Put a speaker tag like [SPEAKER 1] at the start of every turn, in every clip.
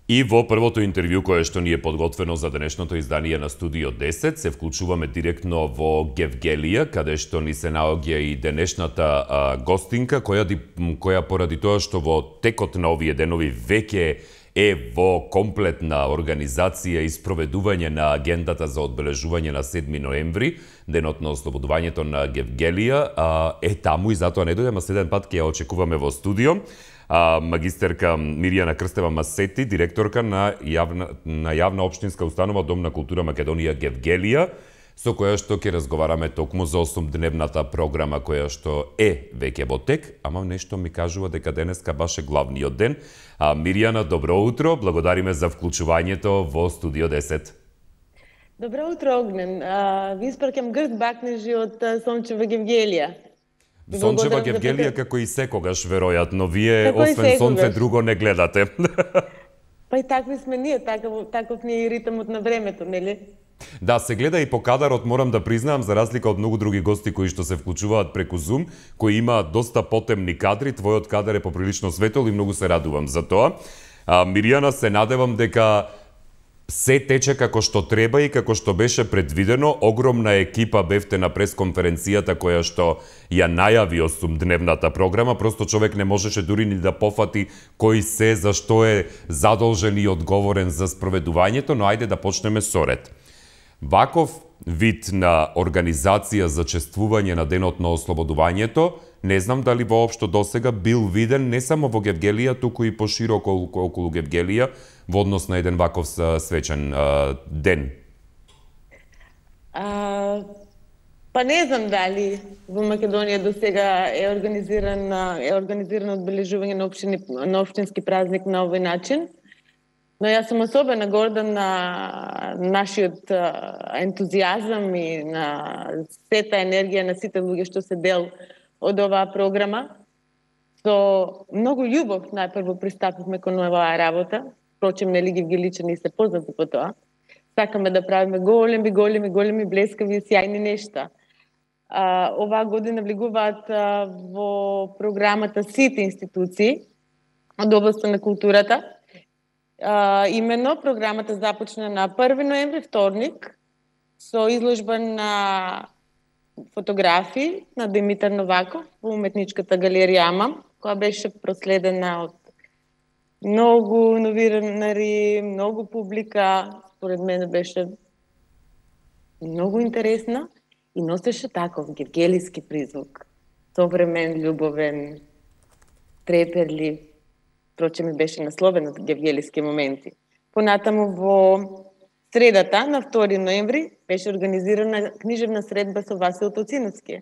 [SPEAKER 1] И во првото интервју кое што ни е подготвено за денешното издание на Студио 10, се вклучуваме директно во Гевгелија, каде што ни се наоѓа и денешната гостинка, која поради тоа што во текот на овие денови веќе е во комплетна организација и спроведување на агендата за одбележување на 7 ноември, денот на ослободувањето на Гевгелија, е таму и затоа не дојдеме, следен пат ќе ја очекуваме во студио. Магистерка Мирјана Крстева Масети, директорка на јавна општинска установа Дом на култура Македонија Гевгелија, со која што ќе разговараме токму за 8-дневната програма која што е веќе во тек, ама нешто ми кажува дека денеска баш е главниот ден. Мирјана, добро утро, благодариме за вклучувањето во Студио 10.
[SPEAKER 2] Добро утро, Огнен. Ви испраќам грд бакнежи од сончева Гевгелија.
[SPEAKER 1] Сончева Гевгелија како и секогаш, веројатно. Вие, освен сонце, друго не гледате.
[SPEAKER 2] Па и такви сме ние, таков ни е ритмот на времето, нели?
[SPEAKER 1] Да, се гледа и по кадарот, морам да признаам, за разлика од многу други гости кои што се вклучуваат преку Zoom, кои имаат доста потемни кадри, твојот кадар е поприлично светол и многу се радувам за тоа. Мирјана, се надевам дека се тече како што треба и како што беше предвидено. Огромна екипа бевте на пресконференцијата која што ја најави 8-дневната програма. Просто човек не можеше дури ни да пофати кој се, за што е задолжен и одговорен за спроведувањето, но ајде да почнеме со ред. Ваков вид на организација за чествување на денот на ослободувањето, не знам дали воопшто досега бил виден не само во Гевгелија, туку и пошироко околу Гевгелија, во однос на еден ваков свечен ден?
[SPEAKER 2] Па не знам дали во Македонија досега е организирано одбележување на општински празник на овој начин. Но јас сум особено горда на нашиот ентузијазам и на сета енергија на сите луѓе што се дел од оваа програма. Со многу љубов најпрво пристапивме кон оваа работа. Впрочем, нели гевгеличани се познати по тоа. Сакаме да правиме големи, блескави и сјајни нешта. Оваа година влегуваат во програмата сите институции од областта на културата. Имено, програмата започна на 1 ноември, вторник, со изложба на фотографии на Димитар Новаков во уметничката галерија Амам, која беше проследена од многу новинари, многу публика. Според мене беше многу интересна и носеше таков гевгелиски призвук. Современ, љубовен, треперлив. Впрочем, ми беше насловен од гевгелиски моменти. Понатаму во средата, на 2 ноември, беше организирана книжевна средба со Васил Тоциновски.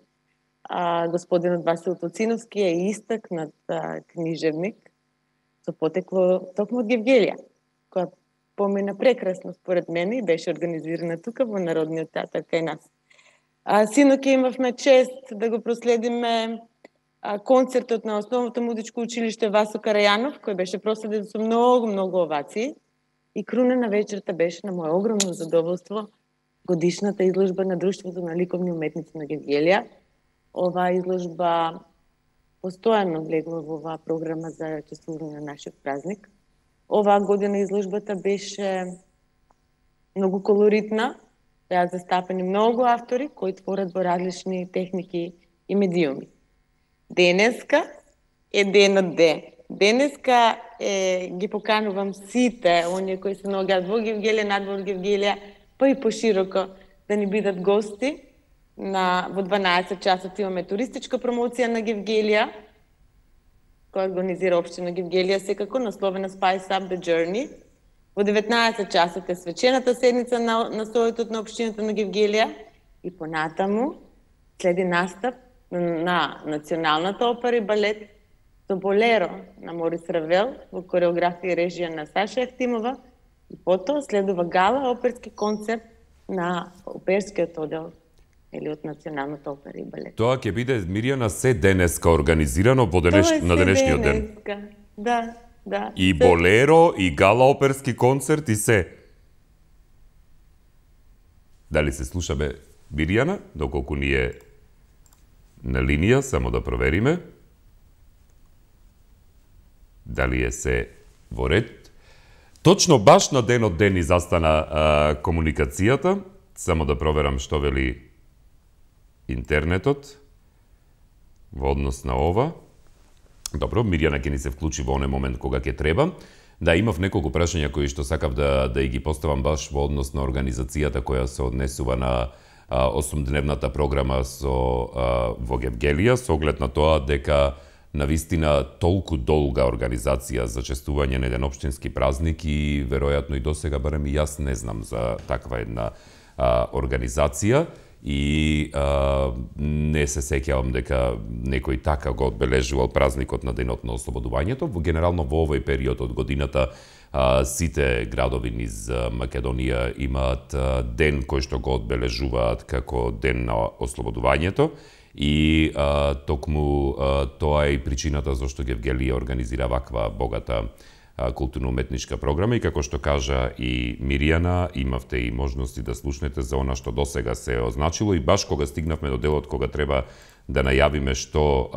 [SPEAKER 2] Господинот Васил Тоциновски е истакнат книжевник со потекло токму од Гевгелија, која помина прекрасно според мене и беше организирана тука во Народниот театар кај нас. Синоќа имавме чест да го проследиме концертот на Основното музичко училиште Васо Карајанов, кој беше проследен со многу овации. И круна на вечерта беше, на моје огромно задоволство, годишната изложба на Друштвото на ликовни уметници на Гевгелија. Оваа изложба постојано влегува во оваа програма за чествување на нашиот празник. Оваа година изложбата беше многу колоритна, беа застапени многу автори кои творат во различни техники и медиуми. Денеска е денот ден. Денеска ги поканувам сите оние кои се наоѓаат во Гевгелија, надвор Гевгелија, па и пошироко да ни бидат гости. Во 12 часот имаме туристичка промоција на Гевгелија, која организира општина Гевгелија, секако насловена Spice Up the Journey. Во 19 часот е свечената седница на советот на општината на Гевгелија и понатаму следи настап на Националната опера и балет со Болеро на Морис Равел во кореографија и режија на Саша Евтимова и потоа следува гала оперски концерт на оперскиот оддел или од Националната опера и балет.
[SPEAKER 1] Тоа ќе биде, Мирјана, се денеска организирано на денешниот ден.
[SPEAKER 2] Да.
[SPEAKER 1] И Болеро, и гала оперски концерт, и се. Дали се слушаме Мирјана, доколку ни е на линија, само да провериме. Дали е се во ред. Точно баш на денот ден застана комуникацијата. Само да проверам што вели интернетот во однос на ова. Добро, Мирјана ќе ни се вклучи во оној момент кога ќе треба. Да, имав неколку прашања кои што сакав да ги поставам баш во однос на организацијата која се однесува на 8-дневната програма во Гевгелија, со оглед на тоа дека навистина толку долга организација за честување на еден општински празник и веројатно и досега, барем и јас не знам за таква една организација и не се сеќавам дека некој така го одбележувал празникот на денот на ослободувањето. Генерално во овој период од годината сите градови низ Македонија имаат ден кој што го одбележуваат како ден на ослободувањето и токму тоа е и причината зашто Гевгелија организира ваква богата културно-уметничка програма и како што кажа и Мирјана, имавте и можности да слушнете за она што досега се означило и баш кога стигнавме до делот кога треба да најавиме што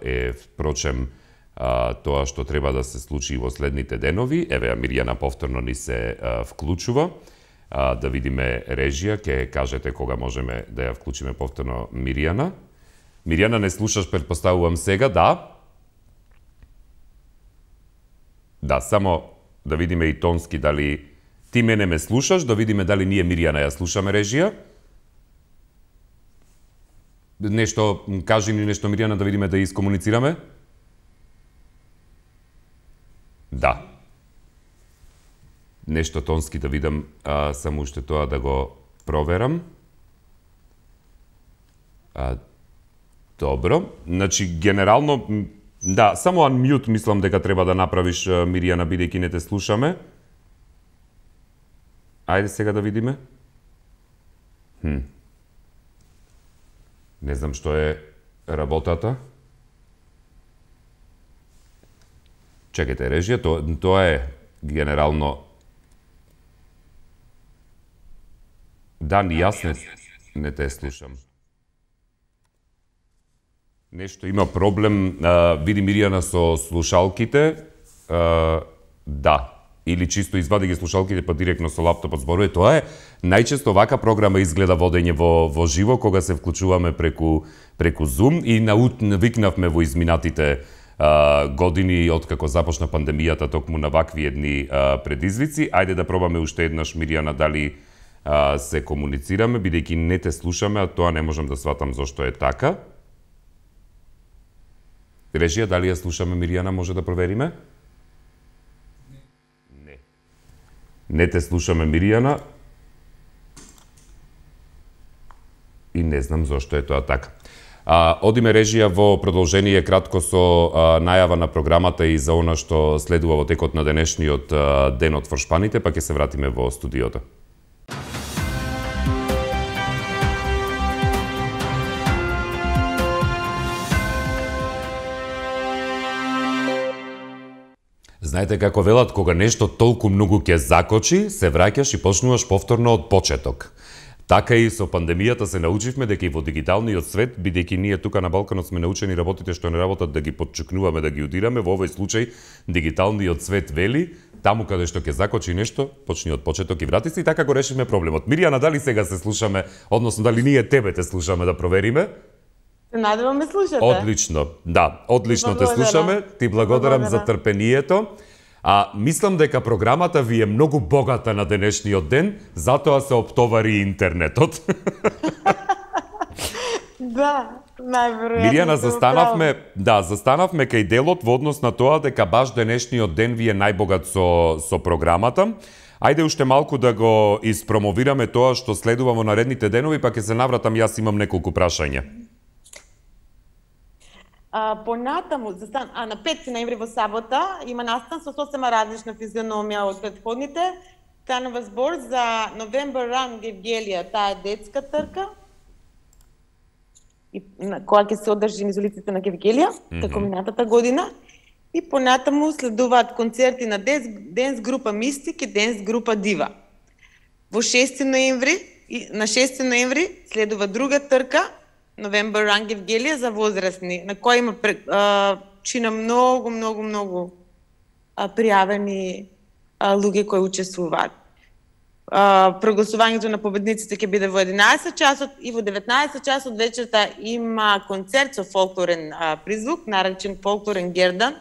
[SPEAKER 1] е впрочем тоа што треба да се случи во следните денови. Еве, Мирјана повторно ни се вклучува. Да видиме режија, ќе кажете кога можеме да ја вклучиме повторно Мирјана. Мирјана, не слушаш, претпоставувам сега, да? Да, само да видиме и тонски дали ти мене ме слушаш, да видиме дали ние Мирјана ја слушаме режија. Нешто, кажи ни нешто Мирјана да видиме да искомуницираме. Да. Нешто тонски да видам, само уште тоа да го проверам. Добро. Значи, генерално, да, само unmute мислам дека треба да направиш, Мирјана, бидејќи не те слушаме. Ајде сега да видиме. Не знам што е работата. Чекайте, режија, тоа е генерално... Да, ни јас не те слушам. Нешто има проблем, види Мирјана со слушалките, да, или чисто извади ги слушалките па директно со лаптопот зборува. Тоа е најчесто вака програма изгледа водење во живо кога се вклучуваме преку Zoom и навикнавме во изминатите години откако започна пандемијата токму на вакви едни предизвици. Ајде да пробаме уште еднаш, Мирјана, дали се комуницираме, бидејќи не те слушаме, а тоа не можам да сватам зошто е така. Режија, дали ја слушаме Мирјана, може да провериме? Не. Не те слушаме, Мирјана. И не знам зошто е тоа така. Одиме, режија, во продолжение кратко со најава на програмата и за она што следува во текот на денешниот ден од Форшпаните, па ќе се вратиме во студиото. Знаете како велат, кога нешто толку многу ќе закочи, се враќаш и почнуваш повторно од почеток. Така и со пандемијата се научивме дека и во дигиталниот свет, бидејќи ние тука на Балканот сме научени работите што не работат да ги подчукнуваме, да ги удираме, во овој случај дигиталниот свет вели, таму каде што ќе закочи нешто, почни од почеток и врати се и така го решивме проблемот. Мирјана, дали сега се слушаме, односно дали ние тебе те слушаме да провериме?
[SPEAKER 2] Се надевам ме слушате.
[SPEAKER 1] Одлично, да, одлично те слушаме. Ти благодарам за трпението. Мислам дека програмата ви е многу богата на денешниот ден, затоа се оптовари интернетот.
[SPEAKER 2] Да, најверојатно.
[SPEAKER 1] Мирјана, застанавме кај делот во однос на тоа дека баш денешниот ден ви е најбогат со програмата. Ајде уште малку да го испромовираме тоа што следува во наредните денови, па ќе се навратам, јас имам неколку прашања.
[SPEAKER 2] Понатаму, на 5 ноември во сабота има настан со сосема различна физиономија од претходните. Станува збор за November Run Гевгелија, таа е детска трка, која ќе се одржи низ улиците на Гевгелија, како минатата година. И понатаму следуваат концерти на денс група Мистик и денс група Дива. На 6 ноември следува друга трка, November Run Гевгелија за возрастни, на која има чина многу пријавени луѓе кои учествуваат. Прогласувањето на победниците ќе биде во 11 часот и во 19 часот вечерта има концерт со фолклорен призвук, наречен Фолклорен Гердан,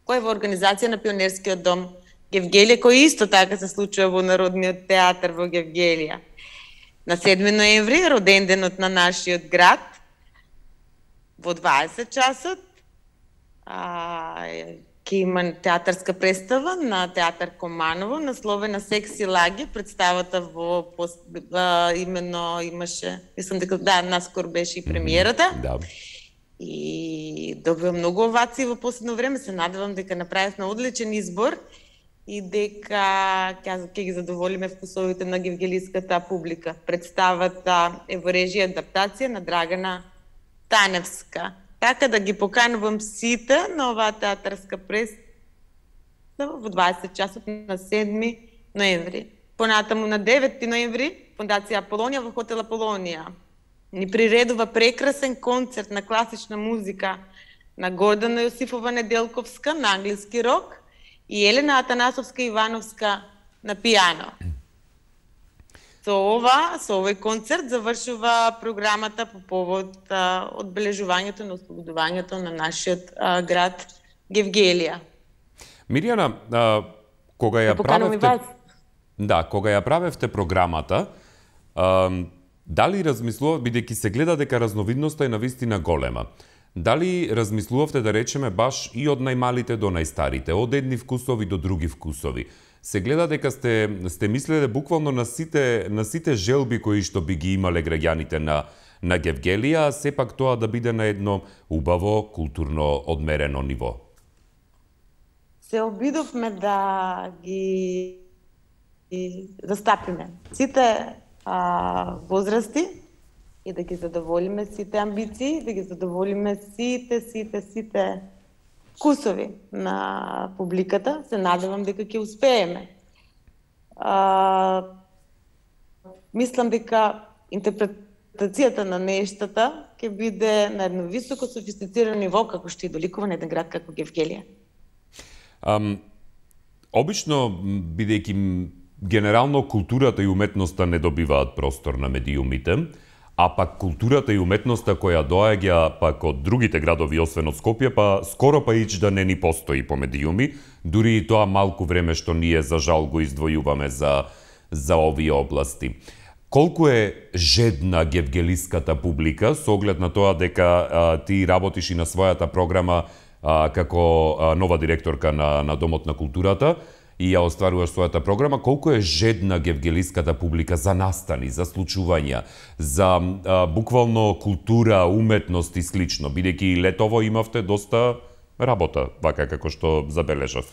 [SPEAKER 2] кој е во организација на Пионерскиот дом Гевгелија, кој исто така се случува во Народниот театар во Гевгелија. На 7 ноември, роден денот на нашиот град, во 20 часот ќе има театарска представа на Театар Команово, насловена Секси Лаги. Представата именно имаше, мислам дека наскоро беше и премиерата.
[SPEAKER 1] Да.
[SPEAKER 2] И добива многу овации во последно време. Се надевам дека направивме одличен избор и дека ќе ги задоволиме вкусовите на гевгелиската публика. Представата е во режија адаптација на Драгана Таневска. Така да ги поканувам сите на оваа театарска представа во 20 часот на 7 ноември. Понатаму на 9 ноември Фондација Аполонија во хотел Аполонија ни приредува прекрасен концерт на класична музика на Гордана Јосифова Неделковска на англиски рок и Елена Атанасовска Ивановска на пијано. Со овој концерт завршува програмата по повод одбележувањето на ослободувањето на нашиот град Гевгелија.
[SPEAKER 1] Мирјана, кога ја правевте програмата, дали размислував, бидејќи се гледа дека разновидноста е навистина голема, дали размислувавте да речеме баш и од најмалите до најстарите, од едни вкусови до други вкусови? Се гледа дека сте мислеле буквално на сите желби кои што би ги имале граѓаните на Гевгелија, а сепак тоа да биде на едно убаво, културно одмерено ниво.
[SPEAKER 2] Се обидовме да ги застапиме сите возрасти и да ги задоволиме сите амбиции, да ги задоволиме сите вкусови на публиката. Се надевам дека ќе успееме. Мислам дека интерпретацијата на нештата ќе биде на едно високо софистицирано ниво, како што и доликува на еден град како Гевгелија.
[SPEAKER 1] Обично, бидејќи генерално културата и уметноста не добиваат простор на медиумите, а пак културата и уметноста која доаѓа пак од другите градови освен од Скопје, па скоро па ич да не ни постои по медиуми, дури и тоа малку време што ние за жал го издвојуваме за овие области. Колку е жедна гевгелиската публика со оглед на тоа дека ти работиш и на својата програма како нова директорка на Домот на културата и ја остваруваш својата програма, колку е жедна гевгелиската публика за настани, за случувања, за буквално култура, уметност и слично, бидејќи летово имавте доста работа, вака како што забележав.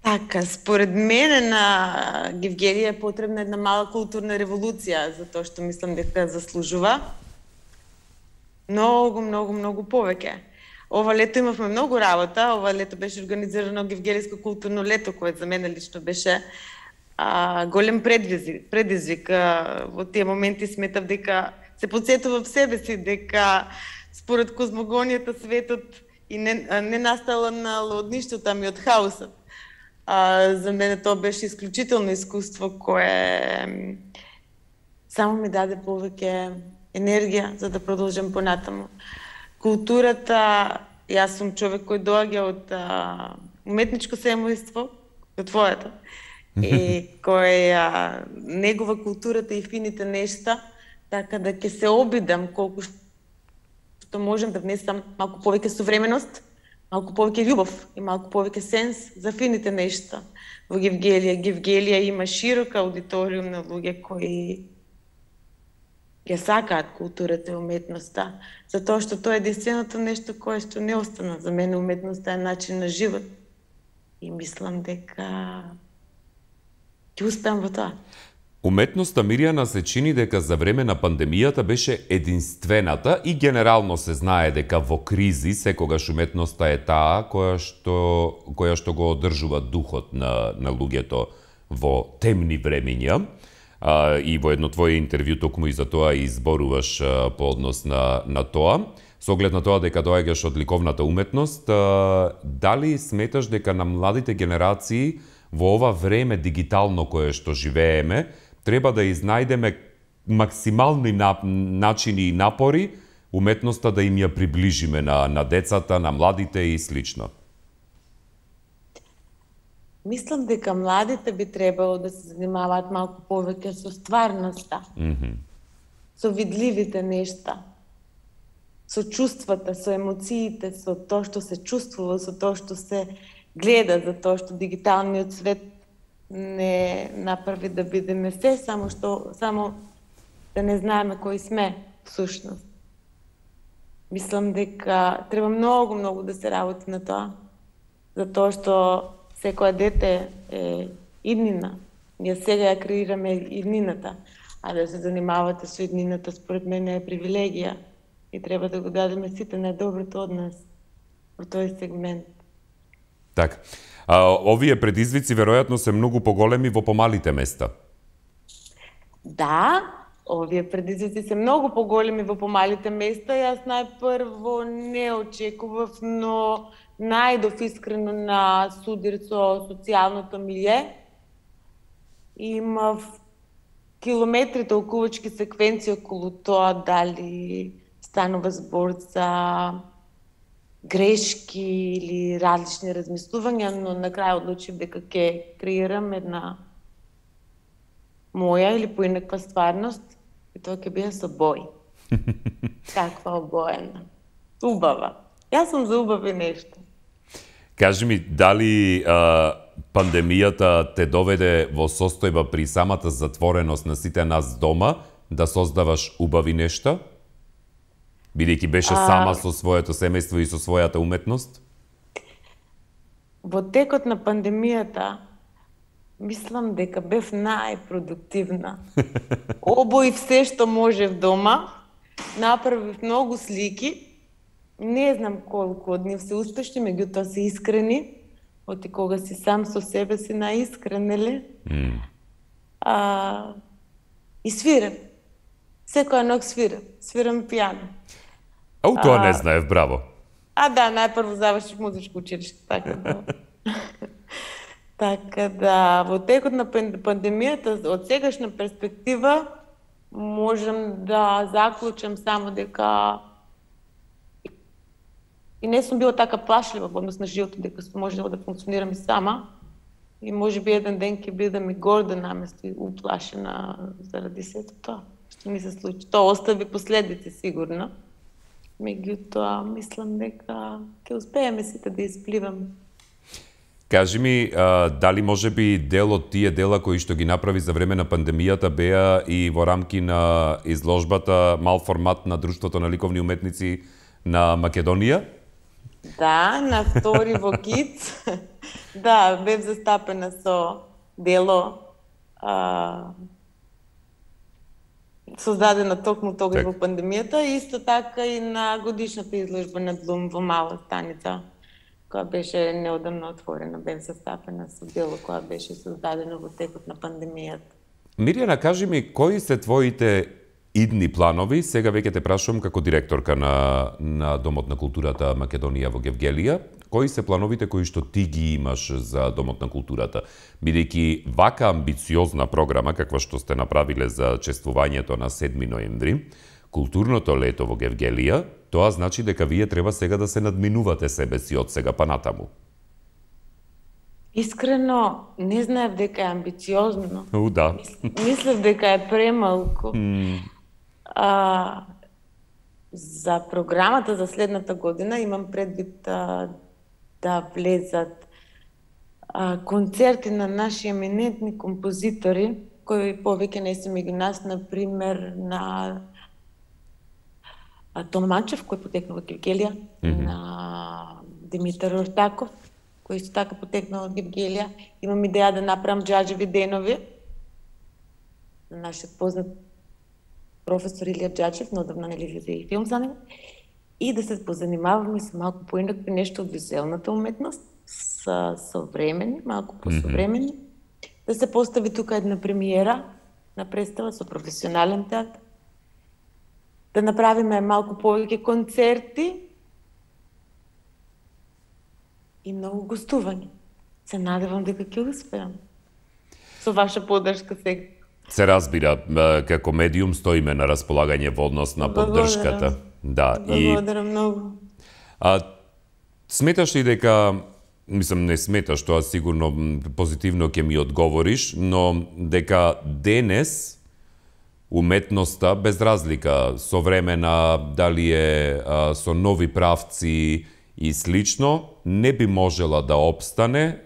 [SPEAKER 2] Така, според мене на Гевгелија е потребна една мала културна револуција, затоа што мислам дека заслужува многу повеќе. Ова лето имавме многу работа, ова лето беше организирано Гевгелиско културно лето, кое за мене лично беше голем предизвик. Во тие моменти сметав дека се потсетував себе си, дека според козмогонијата светот и не настала од ништото, ами од хаосот. За мене тоа беше исклучително искуство кое само ми даде повеќе енергија за да продолжам понатаму. Културата, јас сум човек кој доаѓа од уметничко семејство, од твоето, и кој негува културата и фините нешта, така да ќе се обидам колку што можам да внесам малку повеќе современост, малку повеќе љубов и малку повеќе сенс за фините нешта во Гевгелија. Гевгелија има широка аудиториум на луѓе кои ја сакаат културата и уметноста, затоа што тоа е единственото нешто кое што не остана. За мене уметноста е начин на живот и мислам дека ќе успеам во тоа.
[SPEAKER 1] Уметноста, Мирјана, се чини дека за време на пандемијата беше единствената и генерално се знае дека во кризи секогаш уметноста е таа која што го одржува духот на луѓето во темни времиња. И во едно твое интервју токму и за тоа и изборуваш по однос на тоа. Со оглед на тоа дека доаѓаш од ликовната уметност, дали сметаш дека на младите генерации во ова време дигитално кое што живееме, треба да изнајдеме максимални начини и напори уметноста да им ја приближиме на децата, на младите и слично.
[SPEAKER 2] Мислам дека младите би требало да се занимаваат малку повеќе со стварноста, со видливите нешта, со чувствата, со емоциите, со тоа што се чувствува, со тоа што се гледа, за тоа што дигиталниот свет не направи да бидеме се, само да не знаеме кои сме всушност. Мислам дека треба многу да се работи на тоа, затоа што секоја дете е иднина. Ние сега ја креираме иднината, а да се занимавате со иднината според мене е привилегија и треба да го дадеме сите најдоброто од нас во тој сегмент.
[SPEAKER 1] Така. Овие предизвици веројатно се многу поголеми во помалите места.
[SPEAKER 2] Да, овие предизвици се многу поголеми во помалите места. Јас најпрво не очекував, но најдов искрено на судир со социјалното милје. Имав километри толкувачки секвенции околу тоа дали станува збор за грешки или различни размислувања, но на крај одлучив дека ќе креирам една моја или поинаква стварност и тоа ќе биде со бој. Каква обоена. Убава. Јас сум за убави нешто.
[SPEAKER 1] Кажи ми, дали пандемијата те доведе во состојба при самата затвореност на сите нас дома да создаваш убави нешта? Бидејќи беше сама со своето семејство и со својата уметност?
[SPEAKER 2] Во текот на пандемијата мислам дека бев најпродуктивна. Обоив се што можев дома, направив многу слики. Не знам колку од нив се успешни, меѓутоа се искрени. Оти кога си сам со себе си наискрен, нели? И свирам. Секоја ног свирам. Свирам пијано.
[SPEAKER 1] Тоа не знаев, браво.
[SPEAKER 2] Да, најпрво завршив музичко училиште, така да. Така да, во текот на пандемијата, од сегашна перспектива, можам да заклучам само дека и не сум била така плашлива во однос на животот, дека сум можела да функционирам и сама. И можеби еден ден ќе бидам и горда наместо и уплашена заради сето тоа што ми се случи. Тоа остави последици сигурно. Меѓутоа, мислам дека ќе успееме сите да испливаме.
[SPEAKER 1] Кажи ми, дали можеби дел од тие дела кои што ги направи за време на пандемијата беа и во рамки на изложбата мал формат на Друштвото на ликовни уметници на Македонија?
[SPEAKER 2] Да, на 2 во КИЦ. Да, бев застапена со дело создадена токму тогаш во пандемијата, исто така и на годишната изложба на Блум во Мала Станица, која беше неодамно отворена, бев застапена со дело која беше создадено во текот на пандемијата.
[SPEAKER 1] Мирјана, кажи ми, кои се твоите идни планови? Сега веќе те прашувам како директорка на Домот на културата Македонија во Гевгелија. Кои се плановите кои што ти ги имаш за Домот на културата? Бидејќи вака амбициозна програма, каква што сте направиле за чествувањето на 7 ноември, културното лето во Гевгелија, тоа значи дека вие треба сега да се надминувате себе си од сега па натаму.
[SPEAKER 2] Искрено, не знаев дека е амбициозно.
[SPEAKER 1] Да.
[SPEAKER 2] Мислев дека е премалку. За програмата за следната година имам предвид да влезат концерти на наши еминентни композитори, кои повеќе не се меѓу нас, например на Томачев, кој потекна од Гевгелија, на Димитар Ортаков, кој исто така потекна од Гевгелија. Имам идеја да направам џаџеви денови на нашиот познат професор Илија Џаџев, неодамна нели излезе и филм за него, и да се позанимаваме со малку поинакви нешто од визуелната уметност, со современи, малку посовремени, да се постави тука една премиера на представа со професионален театар, да направиме малку повеќе концерти и многу гостувања. Се надевам дека ќе успеам. Со ваша поддршка сега.
[SPEAKER 1] Се разбира, како медиум стоиме на располагање во однос на поддршката. Да,
[SPEAKER 2] благодарам многу.
[SPEAKER 1] Сметаш ли дека, мислам не сметаш, тоа сигурно позитивно ќе ми одговориш, но дека денес уметноста, без разлика, современа, дали е со нови правци и слично, не би можела да обстане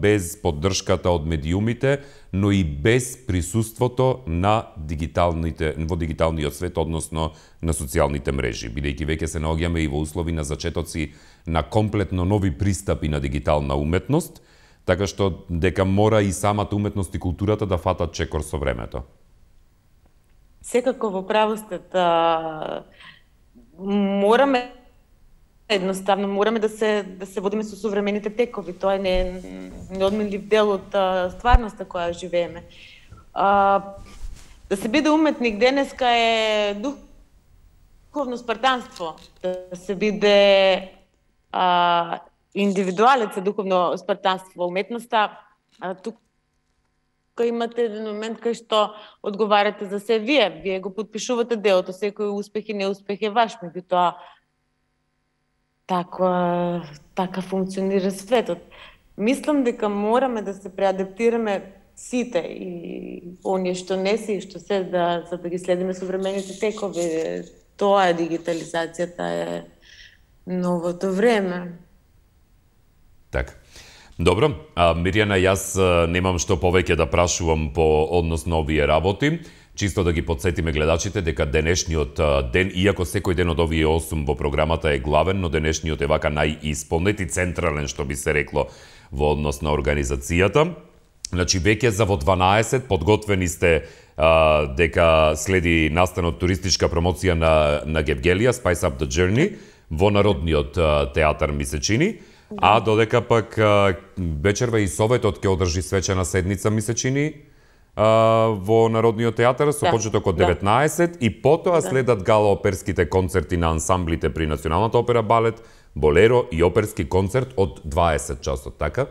[SPEAKER 1] без поддршката од медиумите, но и без присуството на во дигиталниот свет, односно на социјалните мрежи, бидејќи веќе се наоѓаме и во услови на зачетоци на комплетно нови пристапи на дигитална уметност, така што дека мора и самата уметност и културата да фатат чекор со времето.
[SPEAKER 2] Секако во право сте, мораме да се водиме со современите текови. Тоа е неодменлив дел од стварноста која живееме. Да се биде уметник денеска е духовно спартанство. Да се биде индивидуалец е духовно спартанство во уметноста. Тука имате еден момент кај што одговарате за се вие. Вие го подпишувате делото, секој успех и неуспех е ваш, меѓутоа така функционира светот. Мислам дека мораме да се преадаптираме сите и оние што не се и што се за да ги следиме современите текови. Тоа е дигитализацијата, е новото време.
[SPEAKER 1] Така. Добро, Мирјана, јас немам што повеќе да прашувам по однос на овие работи. Чисто да ги подсетиме гледачите дека денешниот ден, иако секој ден од овие 8 во програмата е главен, но денешниот е вака најисполнет и централен, што би се рекло, во однос на организацијата. Значи, веќе за во 12 подготвени сте дека следи настанот туристичка промоција на Гевгелија, Spice Up the Journey, во Народниот театар, ми се чини. А додека пак вечерва и Советот ќе одржи свечена седница, ми се чини, во Народниот театар со почеток од 19 и потоа следат гала-оперските концерти на ансамблите при Националната опера балет, Болеро и оперски концерт од 20 часот, така?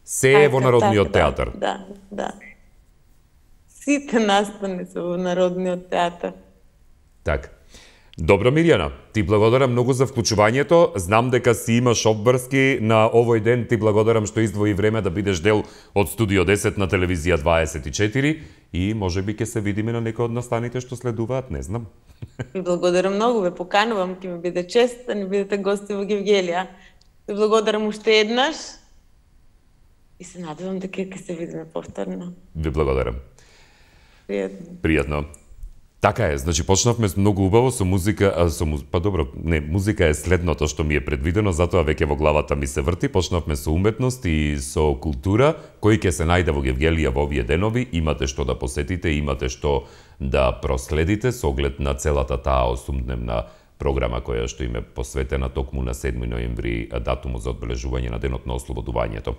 [SPEAKER 1] Се е во Народниот театар.
[SPEAKER 2] Да. Сите настани се во Народниот театар.
[SPEAKER 1] Така. Добро, Мирјана, ти благодарам многу за вклучувањето. Знам дека си имаш обврски на овој ден. Ти благодарам што издвои време да бидеш дел од Студио 10 на Телевизија 24 и можеби ќе се видиме на некој од настаните што следуваат, не знам.
[SPEAKER 2] Ви благодарам многу, ве поканувам, ќе ми биде чест да не бидете гости во Гевгелија. Ви благодарам уште еднаш и се надевам дека ќе се видиме повторно.
[SPEAKER 1] Ви благодарам.
[SPEAKER 2] Пријатно.
[SPEAKER 1] Така е, значи почнавме многу убаво со музика, музика е следното што ми е предвидено, затоа веќе во главата ми се врти. Почнавме со уметност и со култура, кој ќе се најде во Гевгелија во овие денови. Имате што да посетите, имате што да проследите со оглед на целата таа 8-дневна програма која што им е посветена токму на 7 ноември, датумот за одбележување на денот на ослободувањето.